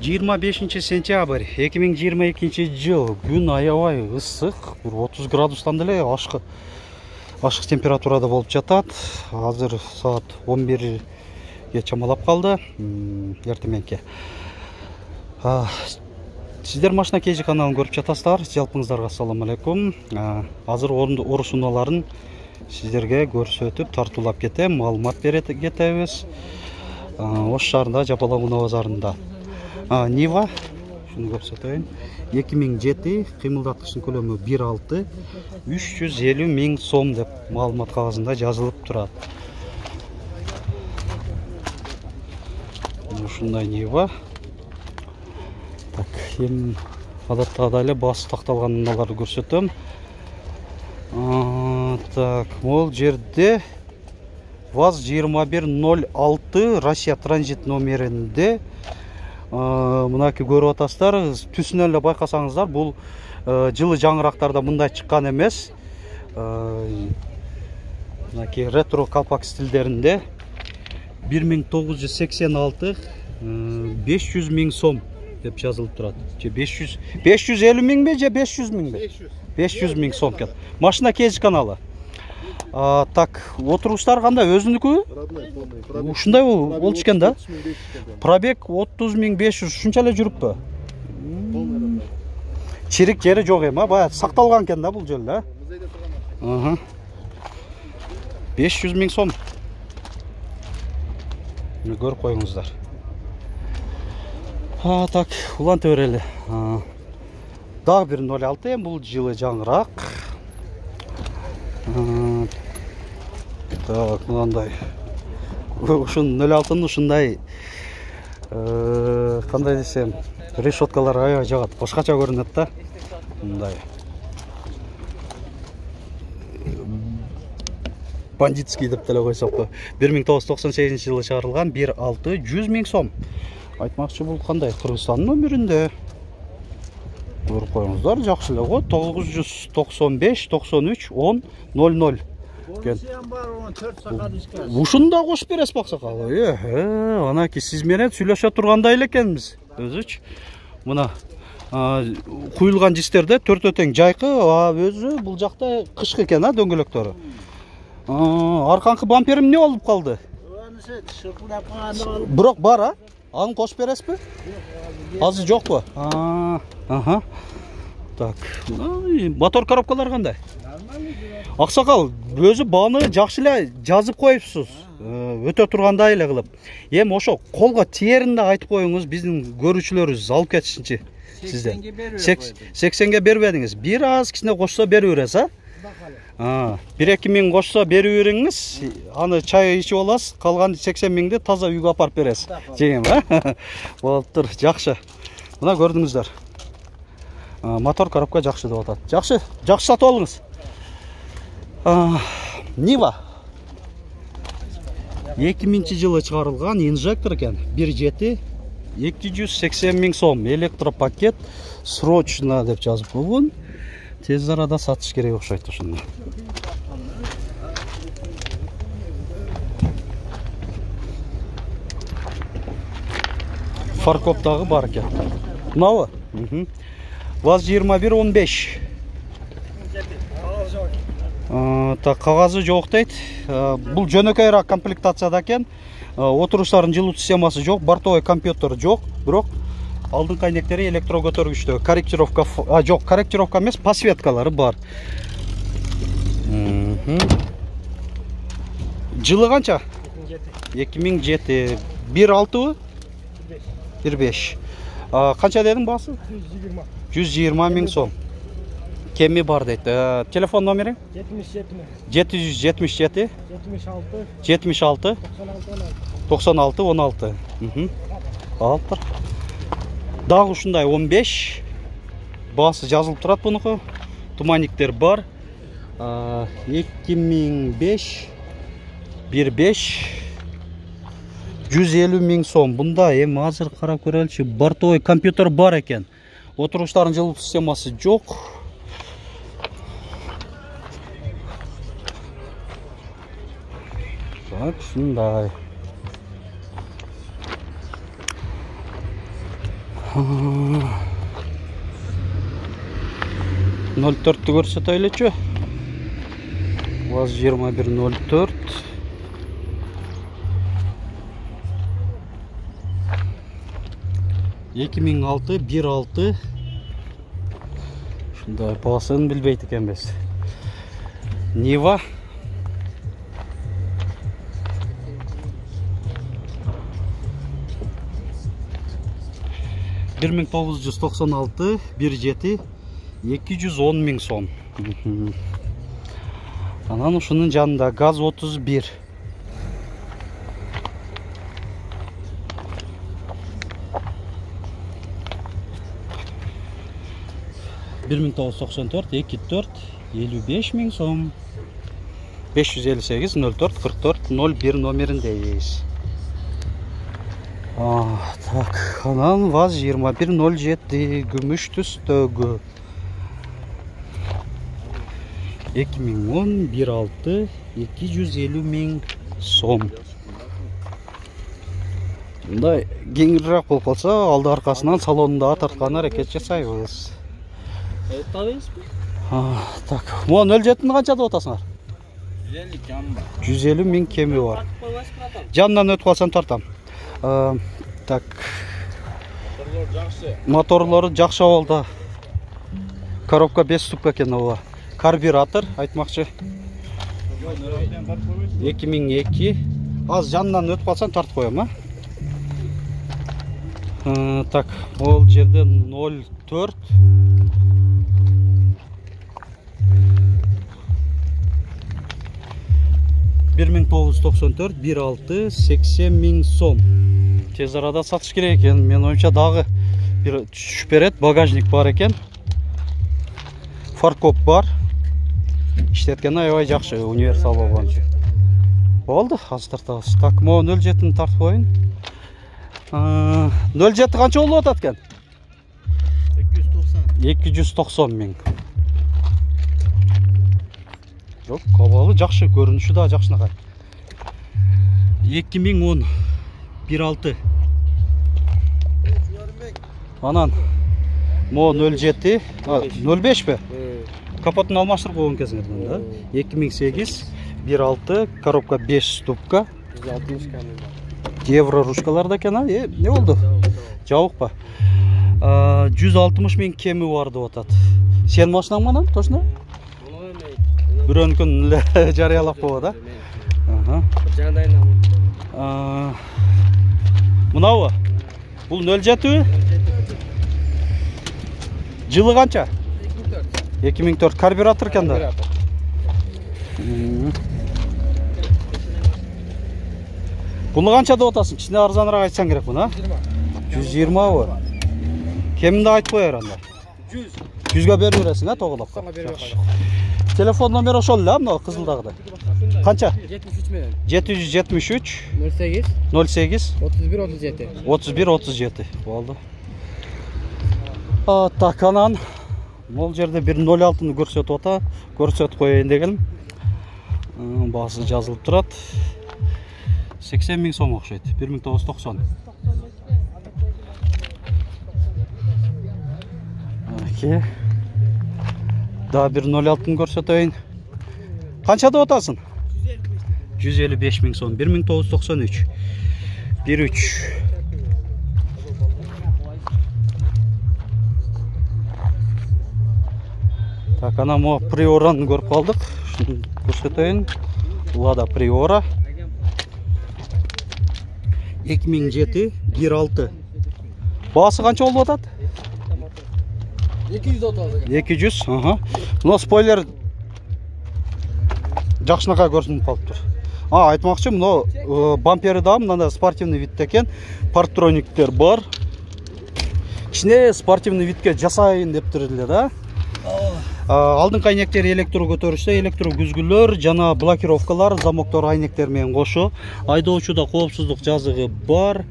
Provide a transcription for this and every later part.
25-сентябрь 2022 жыл. Күн аябай ысык, 30 градустан деле ашык температурада болуп жатат. Азыр саат 11ге чамалап калды. Эртеменке. Сиздер Машина KG каналын көрүп жатасыздар. Жалпыңыздарга ассаламу алейкум. Азыр оруш унааларын сиздерге көрсөтүп, тартуулап кетем, маалымат кетебиз. Ош шаарында, Жапалак унаа базарында. Нива, шуну көрсөтөйүн. 2007, кыймылдаткычтын көлөмү 1.6, 350 000 сом деп маалымат кагазында жазылып турат. Ушундай Нива. Так, эми адаттагыдай эле баасы такталган унааларды көрсөтөм. Так, бул жерде ВАЗ-2106 Россия транзит номеринде мынакей көрүп атасыздар. Түсүнөн эле байкасаңыздар, бул жылы жаңырактарда мындай чыккан эмес. Мынакей ретро калпак стилдеринде 1986 500 000 сом деп жазылып турат. 550 000 же 500 000? 500 000 сом экен. Машина KG каналы. Так, отуруштар кандай? Өзүнүкү? Ушундай болчу экен да. Пробег 30 500, ушунча эле жүрүппү? Чирик жери жок эми, бая сакталган экен да бул жол да. 500 000 сом. Көрүп коюңуздар. Так, уланта берели. Дагы бир 06, бул жылы жаңыраак. Так, мындай. Ушун 06-ны ушундай кандай десем, решеткалар аябай жагат, башкача көрүнөт да. Мындай. Бандитский деп деле койсок. 1998 жылы чыгарылган 1.6 100 000 сом. Айтмакчы бул кандай? Кыргызстандын номеринде. Көрүп коюңуздар, жакшы эле го. 995 93 10 00. Ушунда кошуп бересиз баксакал. Анакей сиз менен сүйлөшө тургандай эле экенбиз. Өзүчү. Мына куюлган жистерде төртөө тең жайкы, өзү бул жакта кышкы экен, дөңгөлөктөрү. Арканкы бамперим эмне болуп калды? Бирок бар, аны кошуп бересизби? Азыр жокпу? Так, мотор коробкалар кандай? Аксакал, өзү бааны жакшы эле жазып коюпсуз. Өтө тургандай эле кылып. Эми ошо колго тиеринде айтып коюңуз, биздин көрүүчүлөрүбүз алып кетишинчи. Сиздер 80ге бербедиңиз. Бир аз кичине кошсо берип бересиз, 1-2 миң кошсо берип бериңиз. Аны чай ичип аласыз, калган 80 миңди таза үйгө апарып бересиз. Жеңем, Болуптур, жакшы. Мына көрдүңүздөр. Мотор коробка жакшы деп атат. Жакшы сатып алыңыз. Нива 2000 жылы чыгарылган инжектор экен. 1.7 280 000 сом. Электропакет срочно деп жазып койгон. Тез арада сатыш керек окшойт ошондо. Фаркоп дагы бар экен. Мынабы? ВАЗ-2115. Так, кагазы жок дейт. Бул жөнөкөйрөөк комплектацияда экен. Отуруштардын жылуу системасы жок, бортовой компьютер жок, бирок алдыңкы айнектери электро көтөргүчтө. Корректировка жок, корректировка эмес, подсветкалары бар. Жылы канча? 2007. 1.6-бы? 1.5. Канча дедиң баасы? 120 000 сом. Кеми бар дейт. Телефон номери? 777 76 96 16. Алыптыр. Дагы ушундай 15. Баасы жазылып турат бунуку. Туманниктер бар. 2005 1.5 150 000 сом. Бунда эми азыр карап көрөлүчү, бортовой компьютер бар экен. Отуруштардын жылуу системасы жок. Так, шундай. 04'tü көрсөтөйлүчү. ВАЗ 2104. Эки миң алты, 1.6. Шундай баасын билбейт экенбиз. Нива. Бир миң 996, 1.7, 210 миң сом. Анан ушунун жанында ГАЗ 31. Бир миң 994, 2.4, 55 миң сом. 558 04 44 01 номеріндейіз. Так, анан ВАЗ 2107 күмүш түстөгү. 2010 1.6 250 миң сом. Мындай кеңирээк болуп калса, алды аркасынан салонунда тарткан аракет жасайбыз. Так, могу 07-ні канча деп атасыңар? 150 миң кеми бар. Жанынан өтүп калсам тартам. Так. Моторлору жакшы болду. Коробка 5 ступка экен ова. Карбюратор айтмакчы. 2002. Аз жанынан өтүп калсам тартып коем, Так, ол жерде 04. Бир миң 994, 1.6, 80 миң сом. Тез арада сатыш керек экен. Мен оюмча дагы бир түшүп берет. Багажник бар экен. Фаркоп бар. Иштеткен аябай жакшы, универсал болгон үчүн. Болду, азыр тартабыз. Так, могу 07-ни тартып коеюн. 07 канча болуп атат экен? 290 миң. Жок, кабалы жакшы, көрүнүшү да жакшынакай. 2010 1.6. Анан мо 07, 05 бе? Капотун алмаштырып койгон кезиңер да. 2008 1.6, коробка 5 ступка. 160 км. Евро ручкаларда экен, эмне болду? Жабык ба? 160 миң кеми бар деп атат. Сен машинаң менен, точно? Бирөөнүкүн эле жарыялап коебу да. Мынабы? Бул 07? Жылы канча? 2004. Карбюратор экен да. Буну канча деп атасың? Кичине арзаныраак айтсаң керек буну, 120 бы? Кеминди айтып коер анда? 100. 100га берип бересиң, тогулапка. Телефон номери ошол эле, мына кызылдагыдай. Канча? 73 менен. 773 08 08 31 37. 31 37. Болду. Так, анан бул жерде 106-ны көрсөтүп ата, көрсөтүп коеюн дегеним. Баасы жазылып турат. 80 миң сом окшойт. 1990. Окей. Да, 106-ны көрсөтөйүн. Канча деп атасың? 155 миң сом. 1993. 13. Так, ана мо Приораны көрүп калдык. Шуну көрсөтөйүн. Лада Приора. 2007 1.6. Баасы канча болуп атат? 200, ага. Но спойлер жакшынакай көрүнүп калыптыр. Айтмакчы, мына бампери да мындай спортивный видте экен. Парктрониктер бар. Кичине спортивный видке жасайын дептир эле да. Алдыңкы айнектер электро көтөрүштө, электро күзгүлөр жана блокировкалар, замоктор айнектер менен кошо. Айдоочуда коопсуздук жазыгы бар.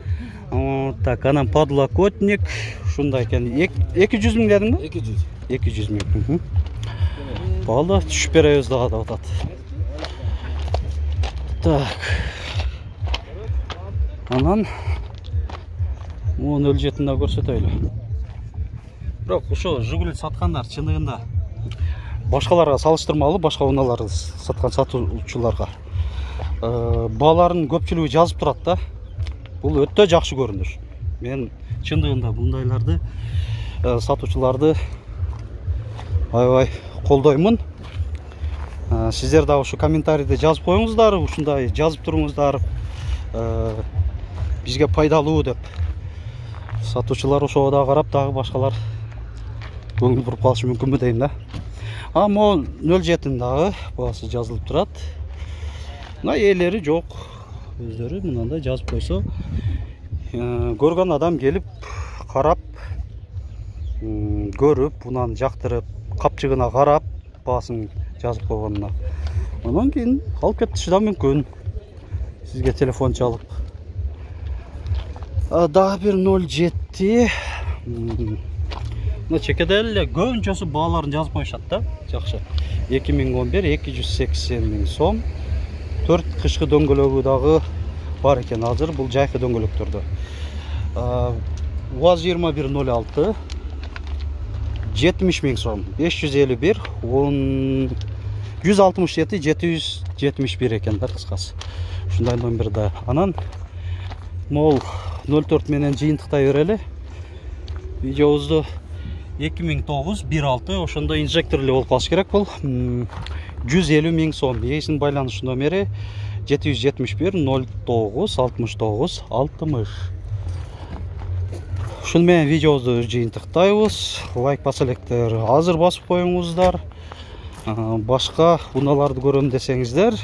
Так, анан подлокотник, ушундай экен. 200 миң дедиңби? 200. 200 миң. Болду, түшүп беребиз дагы деп атат. Так. Анан Муну 07 да көрсөтөйлү. Бирок ошо Жигули саткандар чындыгында башкаларга салыштырмалуу, башка унааларды саткан сатуучуларга баалардын көпчүлүгү жазып турат да. Бул өтө жакшы көрүнүш. Мен чындыгында мындайларды сатуучуларды аябай колдоймун. Сиздер дагы ушу комментарийде жазып коюңуздар, ушундай жазып туруңуздар. Бизге пайдалуу деп. Сатуучулар ошого да карап дагы башкалар көңүл буруп калышы мүмкүнбү дейм да. Могу 07 дагы баасы жазылып турат. Мына ээлери жок. Өздөрү мынандай жазып койсо, көргөн адам келип карап, көрүп, унаны жактырып, капчыгына карап, баасын жазып койгонуна. Анан кийин алып кетиши да мүмкүн. Сизге телефон чалып. Дагы бир 07. Мына чекеде эле көбүнчөсү бааларын жазып коюшат да. Жакшы. 2011 280 миң сом. 4 кышкы дөңгөлөгү дагы бар экен азыр. Бул жайкы дөңгөлөктөрдө. УАЗ 2106 70 миң сом. 551 167 771 экен да кыскасы. Ушундай номерде. Анан мол 04 менен жыйынтыктай берели. Видеобузду 2009 16 ошондо инжекторлуу болуп калыш керек бул. 150 миң сом. Ээсинин байланыш номери 771 09 69 60. Ушуну менен видеобузду жыйынтыктайбыз. Лайк баса электер азыр басып коюңуздар. Башка унааларды көрөм десеңиздер,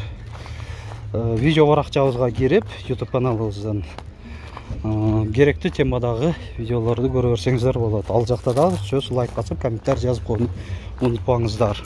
видео баракчабызга кирип, YouTube каналыбыздан керектүү темадагы видеолорду көрө берсеңиздер болот. Ал жакта дагы сөз лайк басып, комментарий жазып коюуну унутпаңыздар.